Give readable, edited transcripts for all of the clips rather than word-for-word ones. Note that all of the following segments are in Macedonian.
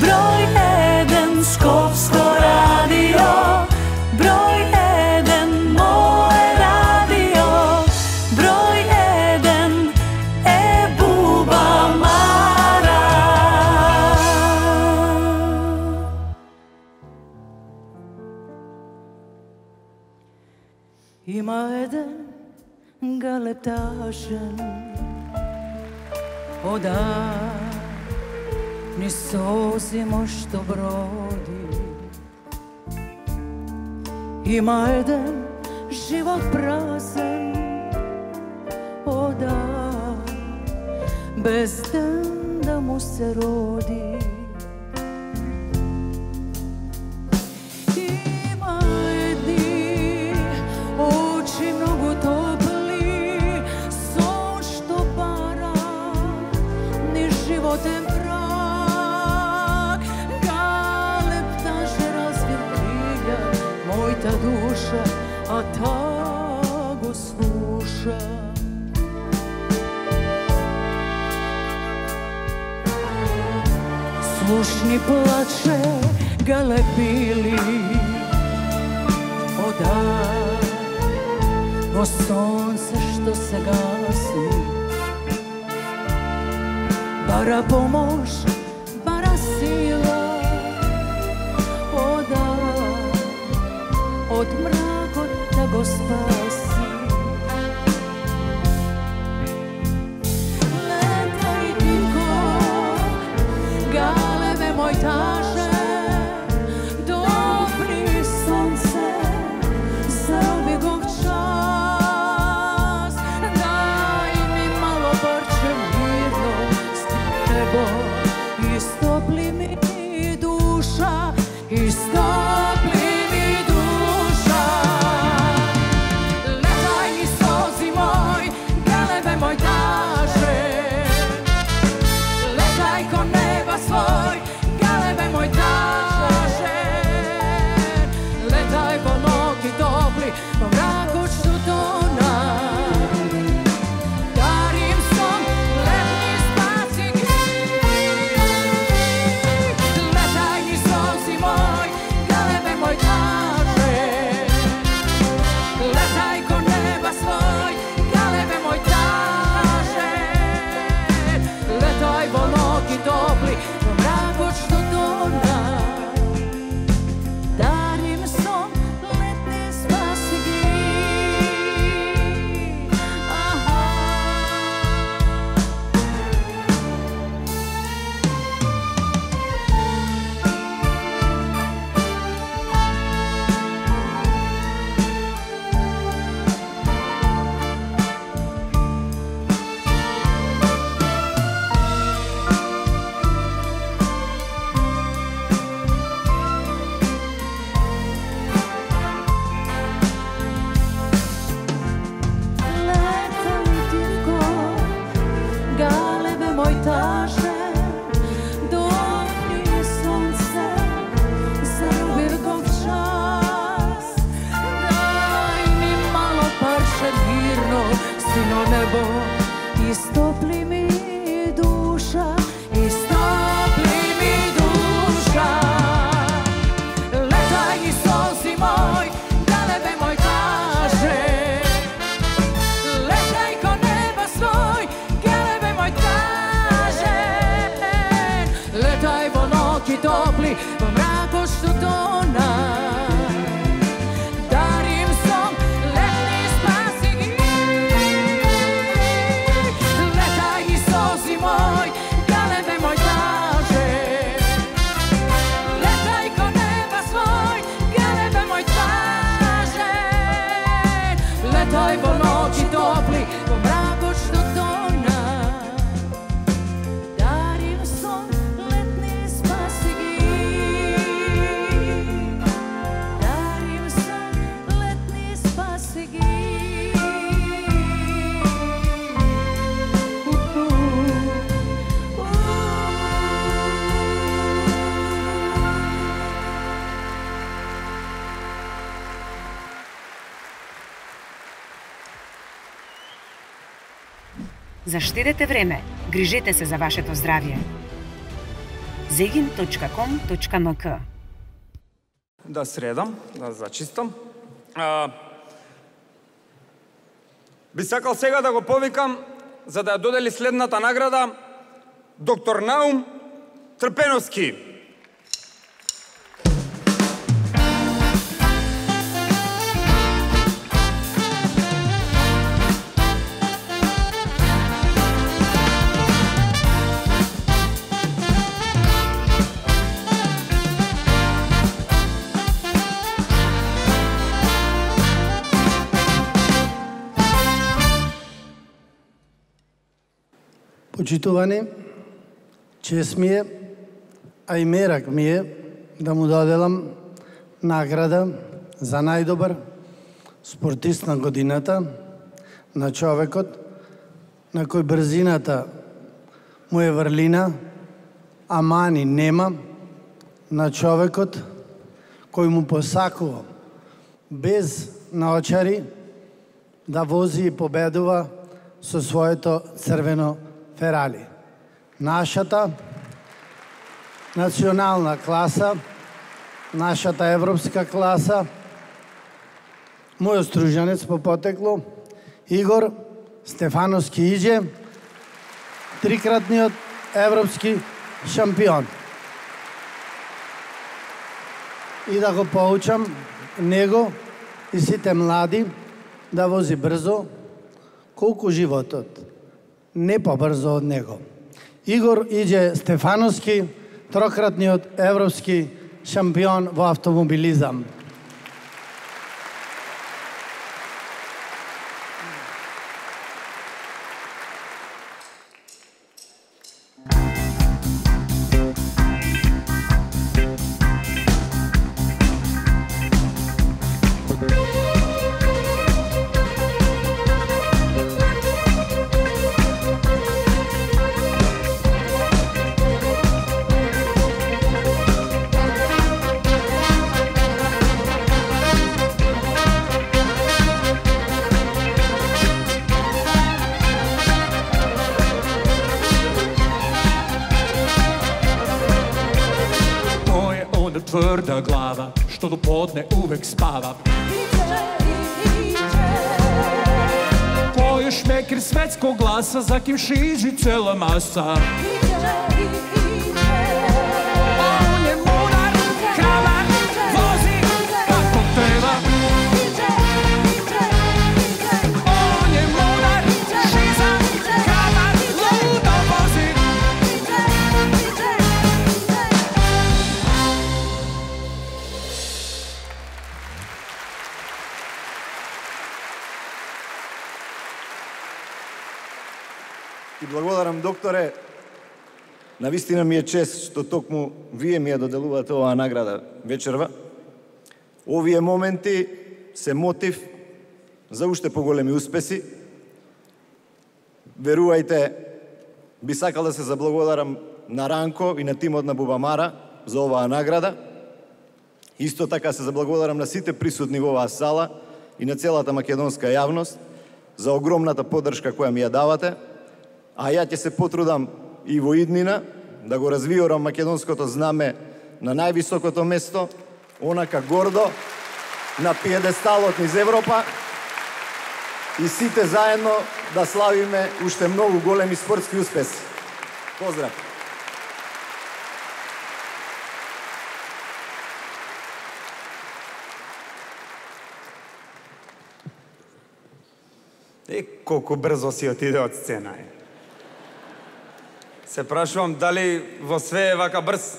Број 1 Скопско радио, број 1 моје радио, број 1 е Буба Мара. Има еден галептажен ода ни созимо што броди. Има еден живот празен ода без ден да му се роди. Има едни очи многу топли, сон што пара ни животен мојта душа, а та го слуша. Слушни плаче галебили ода во сонце што се гаси. Бара помош, бара сила ода од мракот да го спаси. Летај тихо, галебе мој таже, допри сонце за обегов час. Дај ми мало парче мирно с небо, истопли ми душа, истопли Заштедете време, грижете се за вашето здравје. zegin.com.mk. Да средам, да зачистам. Би сакал сега да го повикам за да ја додели следната награда доктор Наум Трпеновски. Почитувани, чест ми е, а и мерак ми е да му доделам награда за најдобар спортист на годината на човекот на кој брзината му е врлина, а мани нема, на човекот кој му посакува без наочари да вози и победува со своето црвено Ферали. Нашата национална класа, нашата европска класа, мојот стружанец по потекло, Игор Стефановски Иđe, трикратниот европски шампион. И да го поучам него и сите млади да вози брзо, колку животот не побрзо од него. Игор Иđe Стефановски, трократниот европски шампион во автомобилизам. Тврда глава, што до подне увек спава. Појеш мекир светско гласа, за ким шижи цела маса. Он е мудар, храбар, вози како треба. Он е мудар, шизан, храбар, лудо вози. И благодарам, докторе. Навистина ми е чест што токму вие ми ја доделувате оваа награда вечерва. Овие моменти се мотив за уште поголеми успеси. Верувајте, би сакал да се заблагодарам на Ранко и на тимот на Бубамара за оваа награда. Исто така се заблагодарам на сите присутни во оваа сала и на целата македонска јавност за огромната поддршка која ми ја давате. А ја ќе се потрудам и во иднина да го развиорам македонското знаме на највисокото место, онака гордо, на пиедесталот низ Европа и сите заедно да славиме уште многу големи спортски успеси. Поздрав! Колку брзо си отиде од сцена. Се прашувам дали во све е вака брз.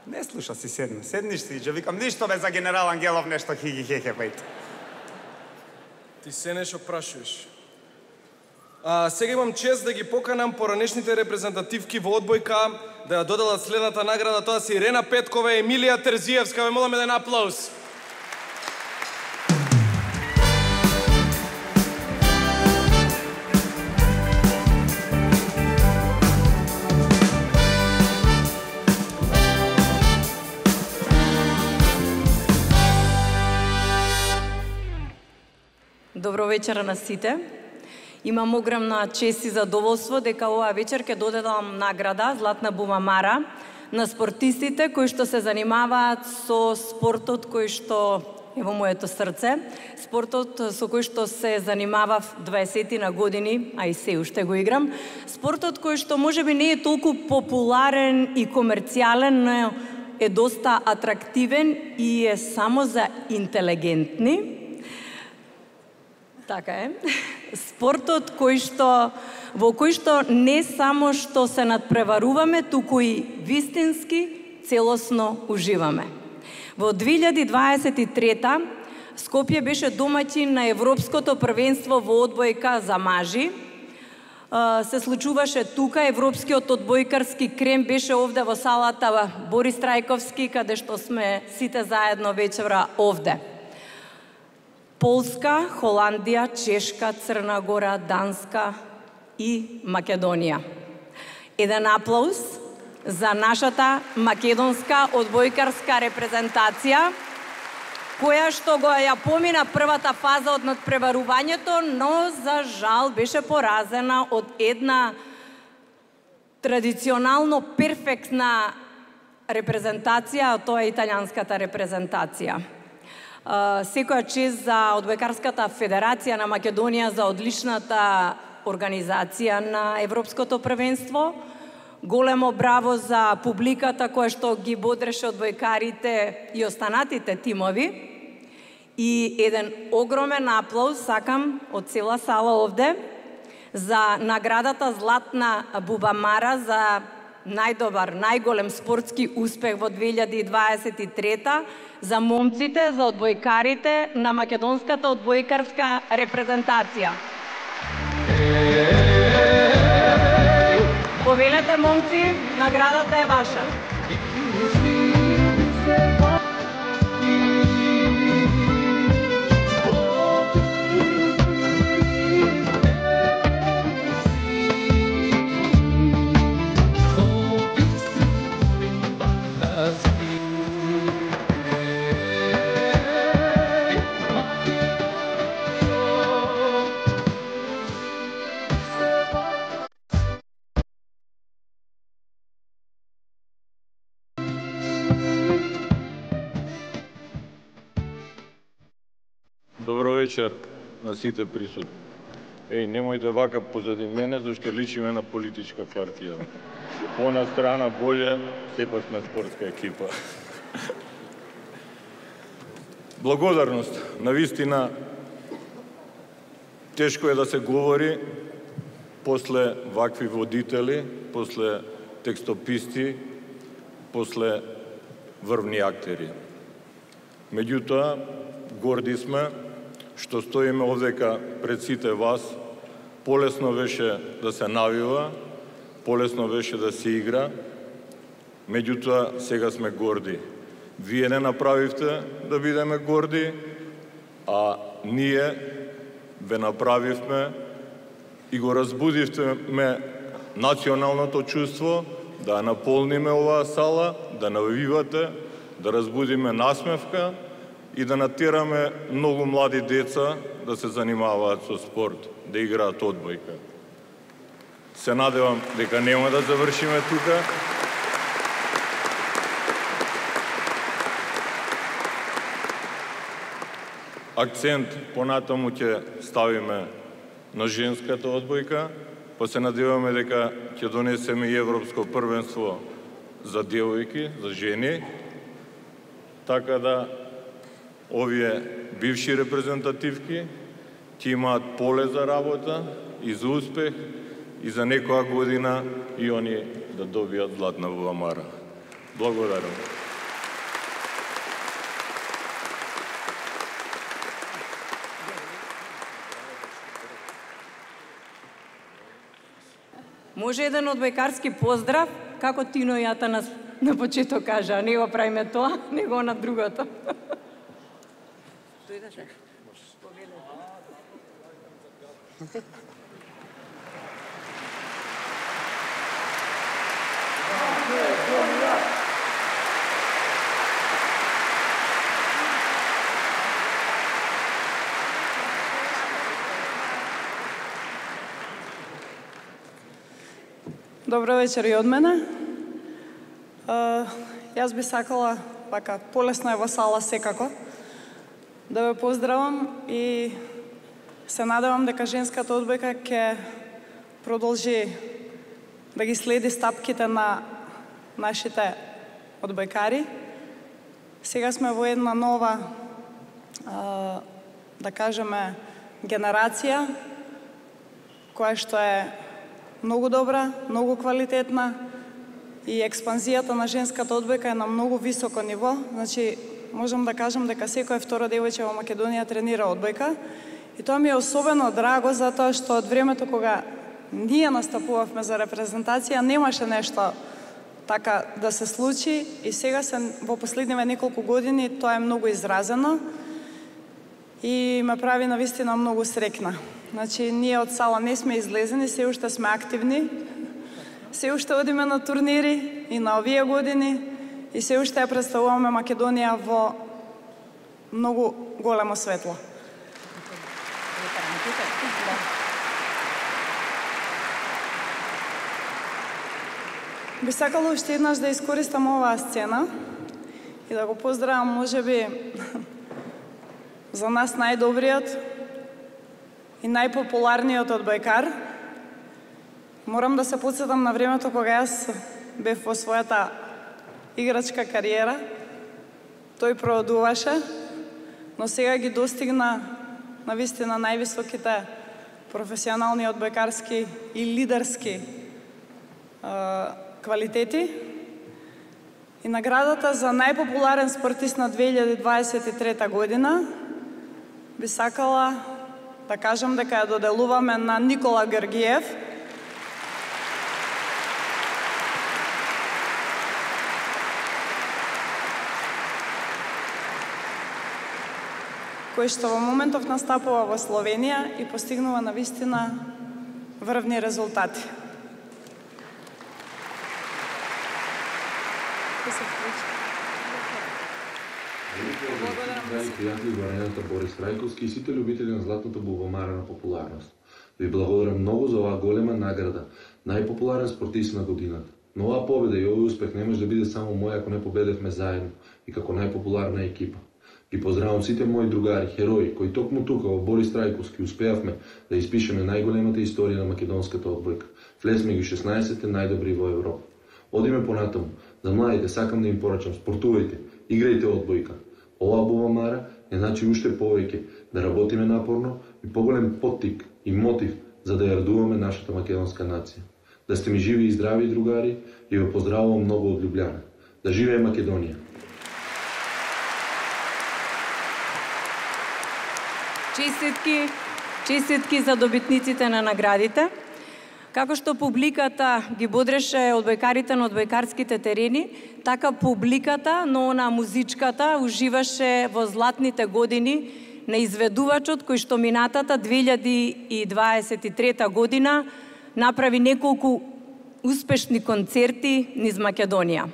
Не слуша си седна. Седниш си, Иđe, викам, ништо бе за генерал Ангелов, нешто хиги хехе, бајте. Ти се нешто прашуваш. Сега имам чест да ги поканам поранешните репрезентативки во одбојка да ја доделат следната награда. Тоа се Ирена Петкова и Емилија Терзиевска. Ве молам еден аплауз. Добро вечер на сите. Имам огромна чест и задоволство дека оваа вечер ќе додадам награда Златна бубамара на спортистите кои што се занимаваат со спортот кој што е во моето срце, спортот со кој што се занимавав 20 на години, а и се уште го играм, спортот кој што можеби не е толку популарен и комерцијален, но е доста атрактивен и е само за интелигентни. Така е. Спортот во кој што не само што се надпреваруваме, туку и вистински целосно уживаме. Во 2023 Скопје беше домаќин на Европското првенство во одбојка за мажи. Се случуваше тука, Европскиот одбојкарски крем беше овде во салата Борис Трајковски, каде што сме сите заедно вечера овде. Полска, Холандија, Чешка, Црна Гора, Данска и Македонија. Еден аплауз за нашата македонска одбојкарска репрезентација, која што ја помина првата фаза од надпреварувањето, но за жал беше поразена од една традиционално перфектна репрезентација, а тоа е италијанската репрезентација. Секоја чест за Одбојкарската федерација на Македонија за одличната организација на Европското првенство. Големо браво за публиката која што ги бодреше одбојкарите и останатите тимови. И еден огромен аплауз сакам од цела сала овде за наградата Златна бубамара за најдобар, најголем спортски успех во 2023 за момците, за одбојкарите на македонската одбојкарска репрезентација. Повелете, момци, наградата е ваша. Добро вечер на сите присутни. Немојте вака позади мене, зашто личиме на политичка партија. Она страна боле, сепак сме спортска екипа. Благодарност. Навистина, тешко е да се говори после вакви водители, после текстописти, после врвни актери. Меѓутоа, горди сме што стоиме овдека пред сите вас. Полесно беше да се навива, полесно беше да се игра, меѓутоа сега сме горди. Вие не направивте да бидеме горди, а ние ве направивме и го разбудивме националното чувство да наполниме оваа сала, да навивате, да разбудиме насмевка и да натераме многу млади деца да се занимаваат со спорт, да играат одбојка. Се надевам дека нема да завршиме тука. Акцент понатаму ќе ставиме на женската одбојка, па се надеваме дека ќе донесеме и Европско првенство за девојки, за жени, така да овие бивши репрезентативки ќе имаат поле за работа и за успех и за некоја година и они да добијат Златна бубамара. Благодарам. Може еден одбојкарски поздрав, како Тино Јата на почеток кажа, не го правиме тоа, него на другото. Добро вечер и од мене. Јас би сакала, вака, полесно е во сала секако, да ве поздравам и се надевам дека женската одбојка ќе продолжи да ги следи стапките на нашите одбојкари. Сега сме во една нова, да кажеме, генерација, која што е многу добра, многу квалитетна и експанзијата на женската одбојка е на многу високо ниво. Значи, можам да кажам дека секој второ девојче во Македонија тренира одбојка и тоа ми е особено драго затоа што од времето кога ние настапувавме за репрезентација немаше нешто така да се случи и сега во последниве неколку години тоа е многу изразено и ме прави навистина многу срекна. Значи, ние од сала не сме излезени, се уште сме активни, се уште одиме на турнири и на овие години и се уште ја представуваме Македонија во многу големо светло. Би сакала уште еднаш да искористам оваа сцена и да го поздравам, можеби, за нас најдобриот и најпопуларниот одбојкар. Морам да се потсетам на времето кога јас бев во својата играчка кариера. Тој проодуваше, но сега ги достигна навистина највисоките професионални одбојкарски и лидерски квалитети. И наградата за најпопуларен спортист на 2023 година би сакала да кажам дека ја доделуваме на Никола Георгиев, кој што во моментов настапува во Словенија и постигнува навистина врвни резултати. Драги пријатели во арената Борис Трајковски и сите љубители на златната бубамара на популарност. Ви благодарам многу за оваа голема награда, најпопуларен спортист на годината. Но оваа победа и овој успех не може да биде само мој ако не победевме заедно и како најпопуларна екипа. Ги поздравам сите мои другари, херои, кои токму тука во Борис Трајковски успеавме да испишеме најголемата историја на македонската одбојка. Влезме ги 16-те најдобри во Европа. Одиме понатаму. За младите сакам да им порачам, спортувајте, играјте одбојка. Оваа бубамара е значи уште повеќе да работиме напорно и поголем поттик и мотив за да ја радуваме нашата македонска нација. Да сте ми живи и здрави, другари, и ве поздравувам многу од Љубљана. Да живее Македонија! Честитки за добитниците на наградите. Како што публиката ги бодреше одбојкарите на одбојкарските терени, така публиката, но на музичката, уживаше во златните години на изведувачот кој што минатата 2023 година направи неколку успешни концерти низ Македонија.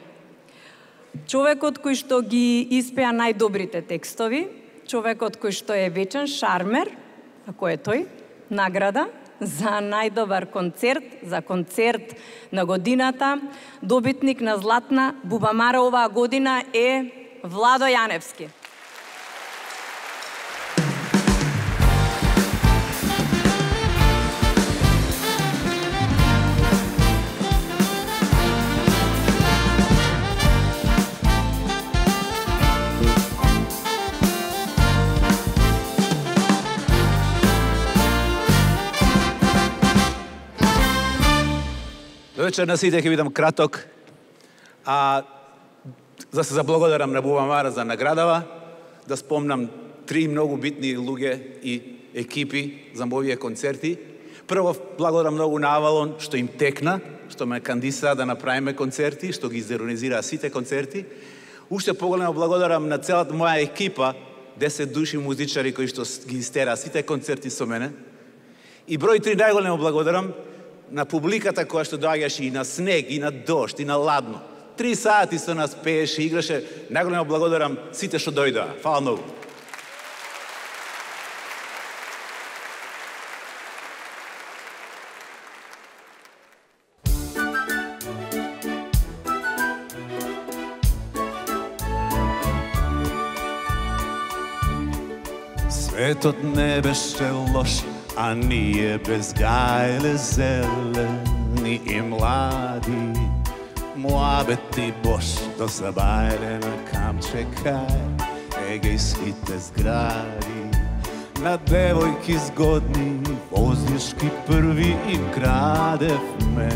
Човекот кој што ги испеа најдобрите текстови, човекот кој што е вечен шармер, ако е тој, награда за најдобар концерт, за концерт на годината, добитник на златна бубамара оваа година е Владо Јаневски. Вечер на сите, ќе бидам краток. За се заблагодарам на Бубамара за наградава, да спомнам 3 многу битни луѓе и екипи за овие концерти. Прво, благодарам многу на Авалон што им текна, што ме кандидира да направиме концерти, што ги изорганизира сите концерти. Уште поголемо благодарам на целата моја екипа, 10 души музичари кои што ги истера сите концерти со мене. И број 3 најголемо благодарам на публиката која што доаѓаше и на снег, и на дожд, и на ладно. 3 сати со нас пееше, играше. Најголемо благодарам сите што дојдоа. Фала многу. Светот не беше лош, а ние безгајле зелени и млади. Муабети бош до забајле на камче кај егејските згради. На девојки згодни, вознишки први им крадевме.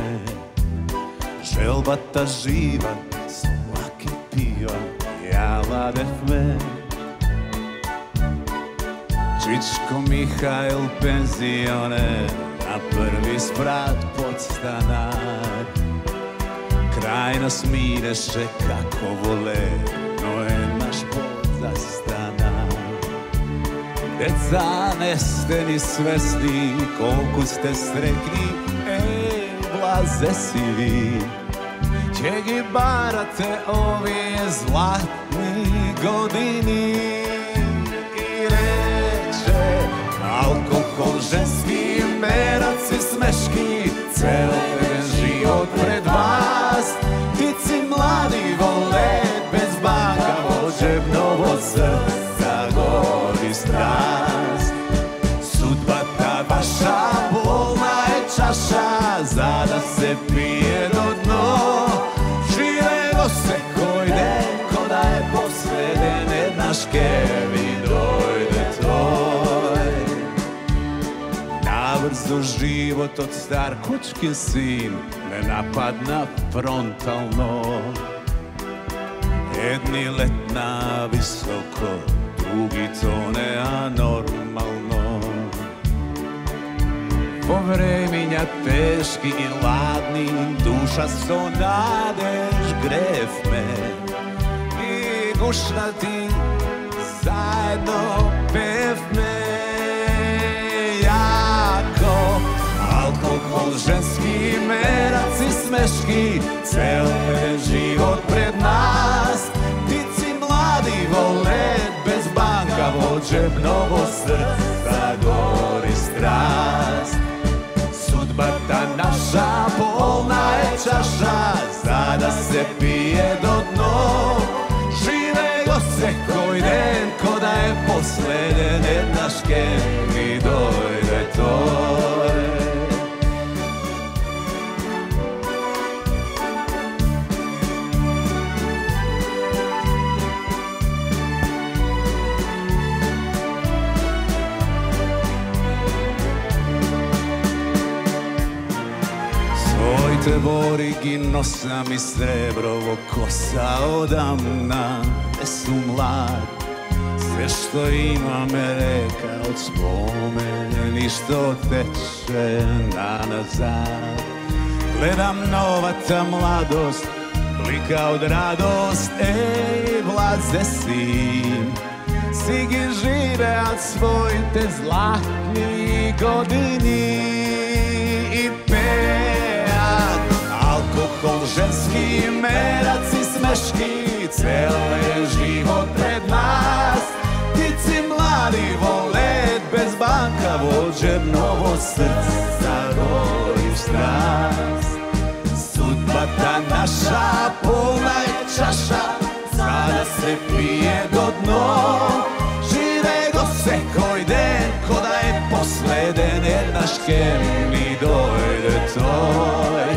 Желбата жива, со лаки пива, ја ладевме. Чичко Михаил пензионер, на први спрат подстанар. Крај нас минеше како воле, но е наш пот застанар. Деца, не сте ни свесни колку сте срекни, блазе си ви. Ќе ги барате овие златни години. И рече, алкохол, женски мераци, смешки, цел ден живот пред вас. Птици млади волеат без банка, во джебново срца гори страст. Судбата ваша болна е чаша, за да се пие до дно. Живе го секој ден, ко да е последен, еднаш ке ви дојде тој. Набрзо животот стар кучкин син не нападна фронтално. Едни летна високо, други тоне анормално. Во времења тешки и ладни, душа со надеж гревме. И гушнати заедно певме. Јако алкохол, женски мераци, смешки, цел ден живот пред нас. Птици млади волеат без банка, во джебново срца гори страст. Судбата наша полна е чаша, за да се пие до дно. Живе го секој ден, ко да е последен, еднаш ке ми дојде тој. Своите бори ги носам и среброво коса одамна, не сум млад. Се што имаме река од спомени што тече назад. Гледам новата младост, блика од радост, влазе си. Си ги живеат своите златни години и пеат алкохол, женски мераци, смешки, цел е живот пред нас. Птици млади волеат без банка, во джебново срца гори страст. Судбата наша полна е чаша, за да се пие до дно. Живе го секој ден, ко да е последен, еднаш ке ми дојде тој.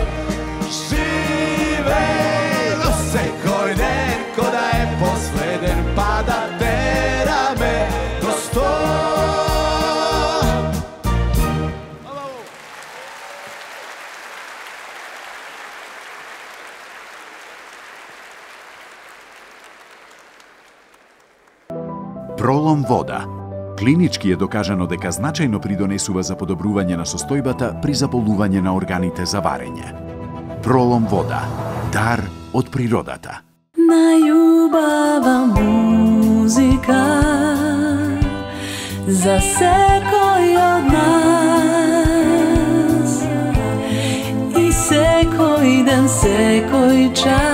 Живе го секој ден, ко да е последен, па да тераме до сто. Пролом вода. Клинички е докажано дека значајно придонесува за подобрување на состојбата при заболување на органите за варење. Пролом вода. Дар од природата. Најубава музика за секој од нас. И секој ден, секој час